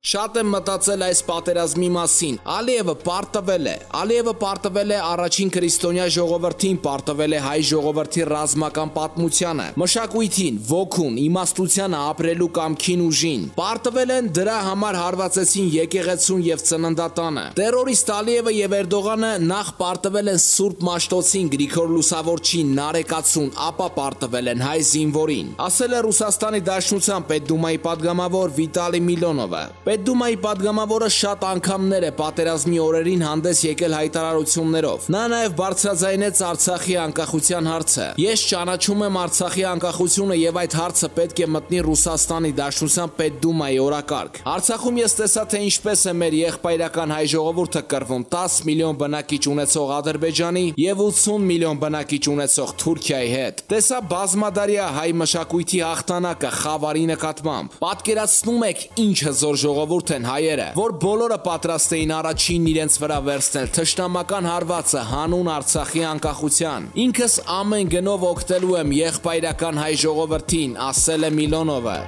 Շատ եմ մտածել այս պատերազմի մասին, Ալիևը պարտվել է առաջին քրիստոնյա ժողովրդին, պարտվել է հայ ժողովրդի ռազմական պատմությանը, մշակույթին, ոգուն, իմաստությանը, ապրելու կամքին ուժին, պարտվել են դրա համար հարվածեցին եկեղեցուն եւ ծննդատանը, տերորիստ Ալիևը եւ Էրդողանը նախ պարտվել են Սուրբ Մաշտոցին, Գրիգոր Լուսավորչին, Նարեկացուն, ապա պարտվել են հայ զինվորին, ասել է Ռուսաստանի Դաշնության Պետդումայի падգամավոր Վիտալի Միլոնովը։ Պետդումայի падգամավորը շատ անգամներ է պատերազմի օրերին հանդես եկել հայտարարություններով։ Նա նաև բարձրաձայնեց Արցախի անկախության հարցը։ Ես ճանաչում եմ Արցախի անկախությունը եւ այդ հարցը պետք է մտնի Ռուսաստանի Դաշնության Պետդումայի օրակարգ։ Արցախում ես տեսա, թե ինչպես է մեր եղբայրական հայ ժողովուրդը կռվում 10 միլիոն բնակիչ ունեցող Ադրբեջանի եւ 80 միլիոն բնակիչ ունեցող Թուրքիայի հետ։ Տեսա բազմադարյա հայ մշակույթի հաղթանակը խավարի նկատմամբ։ Պատկերացնում եք ինչ հզոր ժողովուրդ են հայերը, որ բոլորը պատրաստ էին առաջինն իրենց վրա վերցնել թշնամական հարվածը հանուն Արցախի անկախության։ Ինքս ամեն գնով օգտելու եմ եղբայրական հայ ժողովրդին, ասել է Միլոնովը։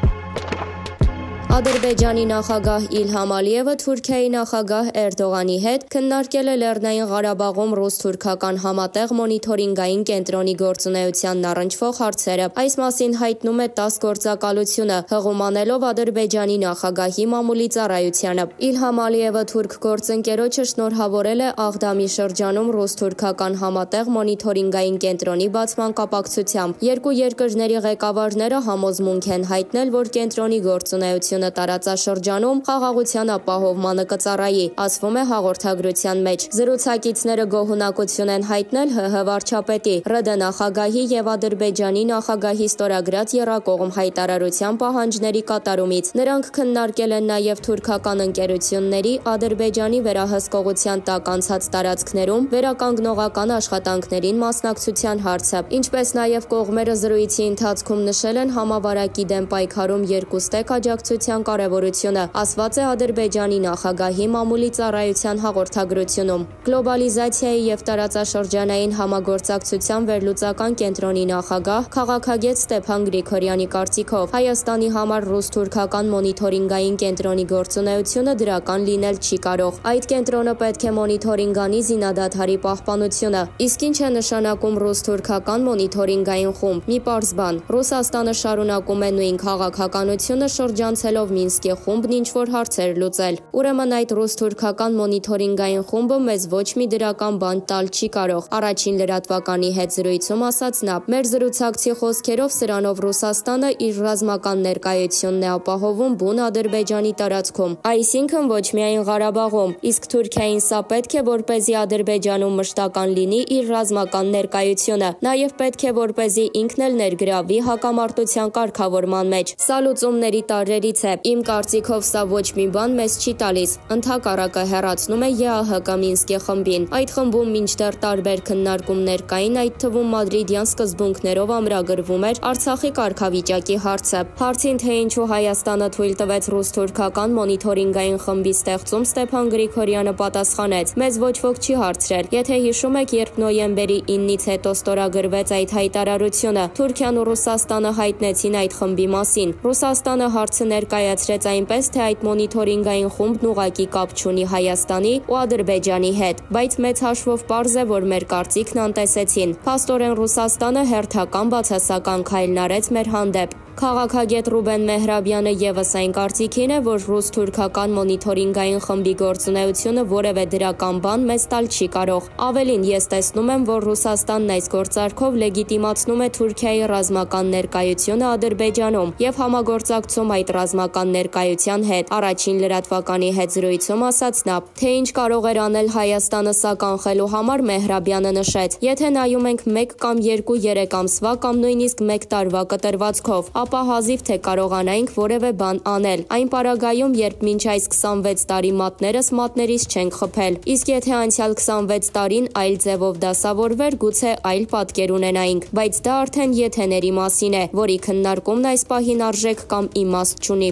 Ադրբեջանի նախագահ Իլհամ Ալիևը Թուրքիայի նախագահ Էրդողանի հետ քննարկել է Լեռնային Ղարաբաղում ռուս-թուրքական համատեղ մոնիթորինգային կենտրոնի գործունեությանն առնչվող հարցերը։ Այս մասին հայտնում է ՏԱՍՍ գործակալությունը, հղում անելով Ադրբեջանի նախագահի մամուլի ծառայությանը։ Իլհամ Ալիևը թուրք գործընկերոջը շնորհավորել է Աղդամի շրջանում ռուս-թուրքական համատեղ մոնիթորինգային կենտրոնի բացման կապակցությամբ։ Երկու երկրների ղեկավարները համոզմունք են հայտնել, որ կենտրոնի գործունեությունը տարածաշրջանում խաղաղության ապահովմանը կծառայի, ասվում է հաղորդագրության մեջ։ Զրուցակիցները գոհունակություն են հայտնել ՀՀ վարչապետի, ՌԴ նախագահի եւ Ադրբեջանի նախագահի ստորագրած եռակողմ հայտարարության պահանջների կատարումից։ Նրանք քննարկել են նաեւ թուրքական ընկերությունների Ադրբեջանի վերահսկողության տակ անցած տարածքներում վերականգնողական աշխատանքներին մասնակցության հարցը, ինչպես նաեւ կողմերը զրույցի ընթացքում նշել են համավարակի դեմ պայքարում երկուստեք աջակցության կարևորությունը, ասված է Ադրբեջանի նախագահի մամուլի ծառայության հաղորդագրությունում։ Գլոբալիզացիայի եւ տարածաշրջանային համագործակցության վերլուծական կենտրոնի նախագահ քաղաքագետ Ստեփան Գրիգորյանի կարծիքով Հայաստանի համար ռուս-թուրքական մոնիթորինգային կենտրոնի գործունեությունը դրական լինել չի կարող։ Այդ կենտրոնը պետք է մոնիթորինգ անի զինադադարի պահպանությունը։ Իսկ ինչ է նշանակում ռուս-թուրքական մոնիթորինգային խումբ։ Մի պարզ բան։ Ռուսաստանը շարունակում է նույն քաղաքականությունը շրջանցելով Մինսկի խումբն ինչ-որ հարցեր լուծել։ Ուրեմն այդ ռուս-թուրքական մոնիթորինգային խումբը մեզ ոչ մի դրական բան տալ չի կարող։ Առաջին լրատվականի հետ զրույցում ասաց նա. մեր զրուցակցի խոսքերով սրանով Ռուսաստանը իր ռազմական ներկայությունն է ապահովում բուն Ադրբեջանի տարածքում, այսինքն ոչ միայն Ղարաբաղում, իսկ Թուրքիային սա պետք է որպեսզի Ադրբեջանում մշտական լինի իր ռազմական ներկայությունը, նաև պետք է որպեսզի ինքն էլ ներգրավվի հակամարտության կարգավորման մեջ։ Սա լուծումների տարրերից է։ Իմ կարծիքով սա ոչ մի բան մեզ չի տալիս, ընդհակառակը հեռացնում է ԵԱՀԿ Մինսկի խմբին։ Այդ խմբում մինչդեռ տարբեր քննարկումներ կային, այդ թվում մադրիդյան սկզբունքներով ամրագրվում էր Արցախի կարգավիճակի հարցը։ Հարցին, թե ինչու Հայաստանը թույլ տվեց ռուս-թուրքական մոնիթորինգային խմբի ստեղծում, Ստեփան Գրիգորյանը պատասխանեց. մեզ ոչ ոք չի հարցրել։ Եթե հիշում եք, երբ նոյեմբերի 9-ից հետո ստորագրվեց այդ հայտարարությունը, Թուրքիան ու Ռուսաստանը հայտնեցին այդ խմբի մասին։ Ռուսաստանը հարցը ներկայացրեց այնպես, թե այդ մոնիթորինգային խումբն ուղղակի կապ չունի Հայաստանի ու Ադրբեջանի հետ, բայց մեծ հաշվով պարզ է, որ մեր կարծիքն անտեսեցին։ Փաստորեն Ռուսաստանը հերթական բացասական քայլն արեց մեր հանդեպ։ Քաղաքագետ Ռուբեն Մեհրաբյանը եւս այն կարծիքին է, որ ռուս-թուրքական մոնիթորինգային խմբի գործունեությունը որևէ դրական բան մեզ տալ չի կարող։ Ավելին, ես տեսնում եմ, որ Ռուսաստանն այս գործարքով լեգիտիմացնում է Թուրքիայի ռազմական ներկայությունը Ադրբեջանում եւ համագործակցում այդ ռազմական ներկայության հետ։ Առաջին լրատվականի հետ զրույցում ասաց նա, թե ինչ կարող էր անել Հայաստանը սա կանխելու համար, Մեհրաբյանը նշեց. եթե նայում ենք 1 կամ 2-3 ամսվա կամ նույնիսկ 1 տարվա կտրվածքով, ապա հազիվ թե կարողանայինք որևէ բան անել։ Այն պարագայում, երբ մինչ այս 26 տարի մատներս մատներից չենք խփել։ Իսկ եթե անցյալ 26 տարին այլ ձևով դասավորվեր, գուցե այլ պատկեր ունենայինք, բայց դա արդեն եթեների մասին է, որի քննարկումն այս պահին արժեք կամ իմաստ չունի։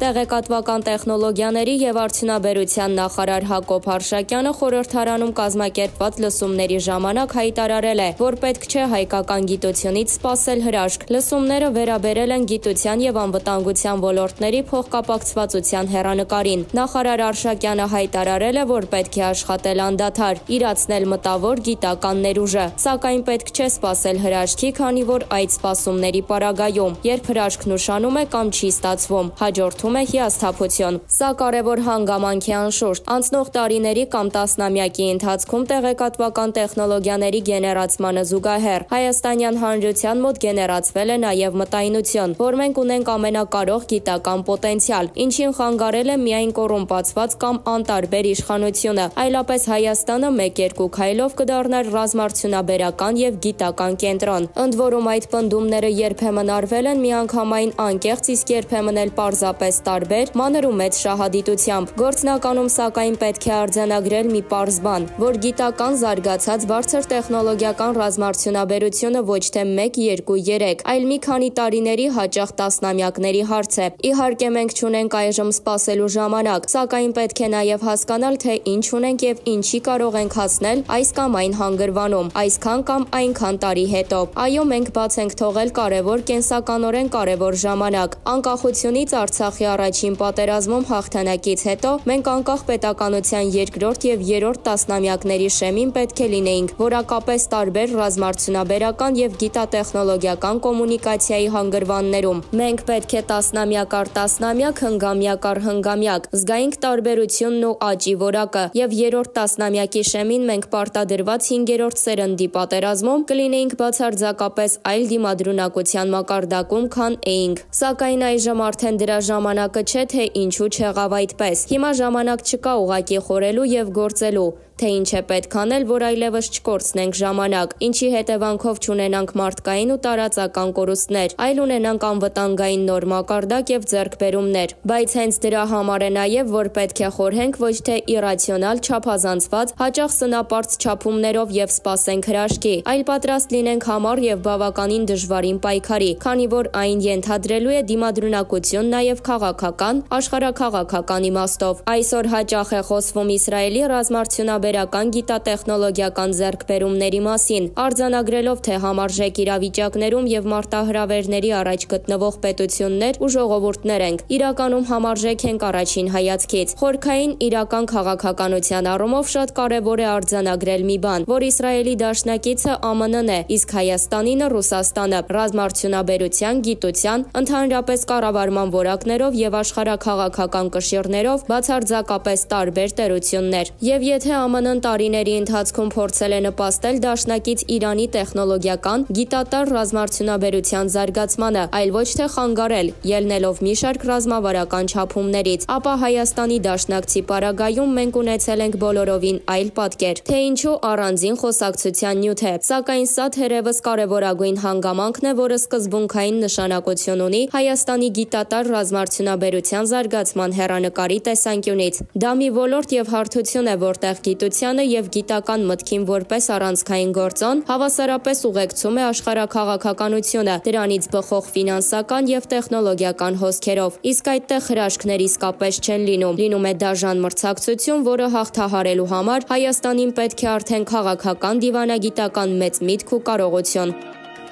Տեղեկատվական տեխնոլոգիաների եւ արդյունաբերության նախարար Հակոբ Հարշակյանը խորհրդարանում կազմակերպված լսումների ժամանակ հայտարարել է, որ պետք չէ հայկական գիտությունից սպասել հրաշք։ Լսումները վերաբերել են գիտության եւ անվտանգության ոլորտների փոխկապակցվածության հեռանկարին։ Նախարար Հարշակյանը հայտարարել է, որ պետք է աշխատել անդադար, իրացնել մտավոր գիտական ներուժը, սակայն պետք չէ սպասել հրաշքի, քանի որ այդ սպասումների պարագայում, երբ հրաշքն ուշանում է կամ չի ստացվում, հաջորդում է հիասթափություն։ Սա կարևոր հանգամանք է անշուշտ։ Անցնող տարիների կամ տասնամյակի ընթացքում տեղեկատվական տեխնոլոգիաների գեներացմանը զուգահեռ Հայաստանյան Հանրության մոտ գեներացվել է նաև մտայնություն, որ մենք ունենք ամենակարող գիտական պոտենցիալ, ինչին խանգարել է միայն կոռումպացված կամ անտարբեր իշխանությունը, այլապես Հայաստանը 1-2 քայլով կդառնար ռազմարդյունաբերական եւ գիտական կենտրոն։ Ընդ որում այդ պնդումները երբեմն արվել են միանգամայն անկեղծ, իսկ երբեմն էլ պարզապես տարբեր, մանր ու մեծ շահադիտությամբ։ Գործնականում սակայն պետք է արձանագրել մի պարզ բան, որ գիտական զարգացած բարձր տեխնոլոգիական ռազմարդյունաբերությունը ոչ թե 1, 2, 3, այլ մի քանի տարիների, հաճախ տասնամյակների հարց է։ Իհարկե մենք չունենք այժմ սպասելու ժամանակ, սակայն պետք է նաև հասկանալ, թե ինչ ունենք եւ ինչի կարող ենք հասնել այս կամ այն հանգրվանում, այսքան կամ այնքան տարի հետո։ Այո, մենք բաց ենք թողել կարևոր, կենսականորեն կարևոր ժամանակ։ Անկախությունից Արցախի առաջին պատերազմում հաղթանակից հետո մենք անկախ պետականության երկրորդ եւ երրորդ տասնամյակների շեմին պետք է լինեինք որակապես տարբեր ռազմարդյունաբերական եւ գիտատեխնոլոգիական կոմունիկացիայի հանգրվաններում։ Մենք պետք է տասնամյակ առ տասնամյակ, հնգամյակ առ հնգամյակ զգայինք տարբերությունն ու աճի որակը, եւ երրորդ տասնամյակի շեմին մենք պարտադրված 5-րդ սերնդի պատերազմում կլինեինք բացարձակապես այլ դիմադրունակության մակարդակում, քան էինք։ Սակայն այժմ արդեն դրա ժամանակը չէ, թե ինչու չեղավ այդպես։ Հիմա ժամանակ չկա ուղղակի խորելու եւ գործելու, թե ինչ է պետք անել, որ այլևս չկորցնենք ժամանակ, ինչի հետևանքով չունենանք մարդկային ու տարածական կորուստներ, այլ ունենանք անվտանգային նոր մակարդակ եւ ձեռքբերումներ։ Բայց հենց դրա համար է նաեւ, որ պետք է խորհենք ոչ թե իրացիոնալ, չափազանցված, հաճախ սնապարծ չափումներով եւ սպասենք հրաշքի, այլ պատրաստ լինենք համառ եւ բավականին դժվարին պայքարի, քանի որ այն ենթադրելու է դիմադրունակություն նաեւ քաղաքական, աշխարհաքաղաքական իմաստով։ Այսօր հաճախ է խոսվում Իսրայելի ռազմարդյունաբերական գիտատեխնոլոգիական ձեռքբերումների մասին, արձանագրելով, թե համարժեք իրավիճակներում եւ մարտահրավերների առաջ գտնվող պետություններ ու ժողովուրդներ ենք։ Իրականում համարժեք ենք առաջին հայացքից։ Խորքային իրական քաղաքականության առումով շատ կարևոր է արձանագրել մի բան, որ Իսրայելի դաշնակիցը ԱՄՆ-ն է, իսկ Հայաստանինը Ռուսաստանը, ռազմարդյունաբերության, գիտության, ընդհանրապես կառավարման որակներով եւ աշխարհաքաղաքական կշիռներով բացարձակապես տարբեր տերություններ։ Եվ եթե ԱՄՆ-ն տարիների ընթացքում փորձել է նպաստել դաշնակից Իրանի տեխնոլոգիական, գիտատար ռազմարդյունաբերության զարգացմանը, այլ ոչ թե խանգարել, ելնելով մի շարք ռազմավարական չափումներից, ապա Հայաստանի դաշնակցի պարագայում մենք ունեցել ենք բոլորովին այլ պատկեր, թե ինչու առանձին խոսակցության նյութ է։ Սակայն սա թերևս կարևորագույն հանգամանքն է, որը սկզբունքային նշանակություն ունի Հայաստանի գիտատար ռազմարդյունաբերության զարգացման հեռանկարի տեսանկյունից։ Դա մի ոլորտ եւ հարթություն է, որտեղ գիտությանը եւ գիտական մտքին որպես առանցքային գործոն հավասարապես ուղեկցում է աշխարհաքաղաքականությունը, դրանից բխող ֆինանսական եւ տեխնոլոգիական հոսքերով։ Իսկ այդտեղ հրաշքներ իսկապես չեն լինում։ Լինում է դաժան մրցակցություն, որը հաղթահարելու համար Հայաստանին պետք է արդեն քաղաքական դիվանագիտական մեծ միտք ու կարողություն։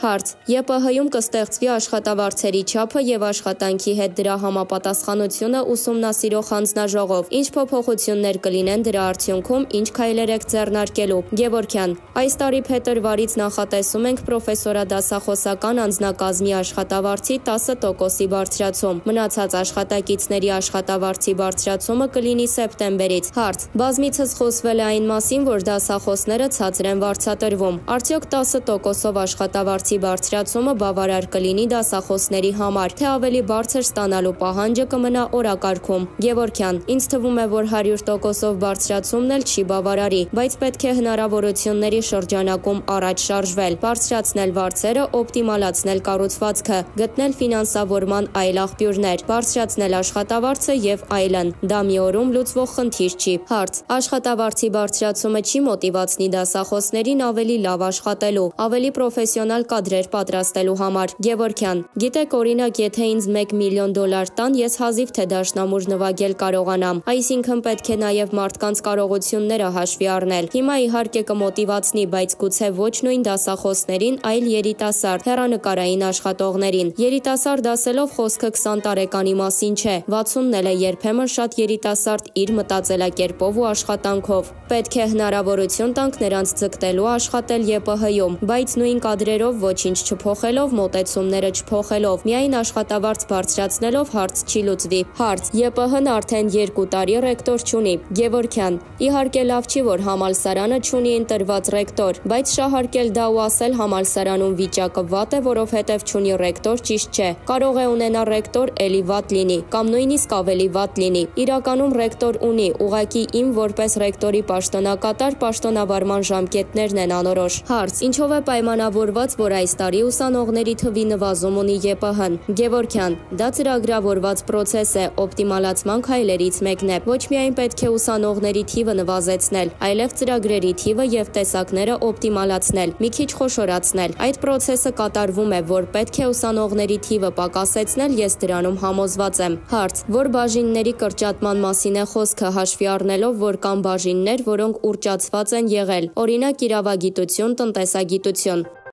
Հարց. ԵՊՀ-ում կստեղծվի աշխատավարձերի չափը եւ աշխատանքի հետ դրա համապատասխանությունը ուսումնասիրող հանձնաժողով։ Ինչ փոփոխություններ կլինեն դրա արդյունքում, ինչ քայլեր եք ձեռնարկելու։ Գևորգյան. այս տարի փետրվարից նախատեսում ենք պրոֆեսորադասախոսական անձնակազմի աշխատավարձի 10%-ի բարձրացում։ Մնացած աշխատակիցների աշխատավարձի բարձրացումը կլինի սեպտեմբերից։ Հարց. բազմիցս խոսվել է այն մասին, որ դասախոսները ցածր են վարձատրվում։ Արդյոք 10%-ով աշխատավարձի բարձրացումը բավարար կլինի դասախոսների համար, թե ավելի բարձր ստանալու պահանջը կմնա օրակարգում։ Գևորգյան. ինձ թվում է, որ 100%-ով բարձրացումն էլ չի բավարարի, բայց պետք է հնարավորությունների շրջանակում առաջ շարժվել, բարձրացնել վարձերը, օպտիմալացնել կառուցվածքը, գտնել ֆինանսավորման այլ աղբյուրներ, բարձրացնել աշխատավարձը եւ այլն։ Դա մի օրում լուծվող խնդիր չի։ Հարց. աշխատավարձի բարձրացումը չի մոտիվացնի դասախոսներին ավելի լավ աշխատելու, ավելի պրոֆեսիոնալ կադրեր պատրաստելու համար։ Գևորգյան. Գիտեք, օրինակ, եթե ինձ $1 միլիոն տան, ես հազիվ թե դաշնամուր նվագել կարողանամ, այսինքն պետք է նաև մարդկանց կարողությունները հաշվի առնել։ Հիմա իհարկե կմոտիվացնի, բայց գուցե ոչ նույն դասախոսներին, այլ երիտասարդ հեռանկարային աշխատողներին։ Երիտասարդ ասելով խոսքը 20 տարեկանի մասին չէ, 60-ն էլ է երբեմն շատ երիտասարդ իր մտածելակերպով ու աշխատանքով։ Պետք է հնարավորություն տանք նրանց ձգտելու աշխատել ԵՊՀ-ում, բայց նույն կադրերով ոչինչ չփոխելով, մոտեցումները չփոխելով, միայն աշխատավարձ բարձրացնելով հարց չի լուծվի։ Հարց. ԵՊՀ-ն արդեն 2 տարի ռեկտոր չունի։ Գևորգյան. Իհարկե լավ չի, որ համալսարանը չունի ընտրված ռեկտոր, բայց շահարկել դա ու ասել համալսարանում վիճակը վատ է, որովհետև չունի ռեկտոր, ճիշտ չէ։ Կարող է ունենալ ռեկտոր էլի վատ լինի, կամ նույնիսկ ավելի վատ լինի։ Իրականում ռեկտոր ունի, ուղղակի իմ որպես ռեկտորի պաշտոնակատար պաշտոնավարման ժամկետներն են անորոշ։ Հարց. Ինչով է պայմանավորված, որ այս տարի ուսանողների թվի նվազում ունի ԵՊՀ-ն։ Գևորգյան. Դա ծրագրավորված պրոցես է, օպտիմալացման քայլերից մեկն է։ Ոչ միայն պետք է ուսանողների թիվը նվազեցնել, այլև ծրագրերի թիվը եւ տեսակները օպտիմալացնել, մի քիչ խոշորացնել։ Այդ պրոցեսը կատարվում է, որ պետք է ուսանողների թիվը պակասեցնել, ես դրանում համոզված եմ։ Հարց. Որ բաժինների կրճատման մասին է խոսքը, հաշվի առնելով, որ կան բաժիններ, որոնք ուռճացված են եղել, օրինակ իրավագիտություն, տնտեսագիտություն։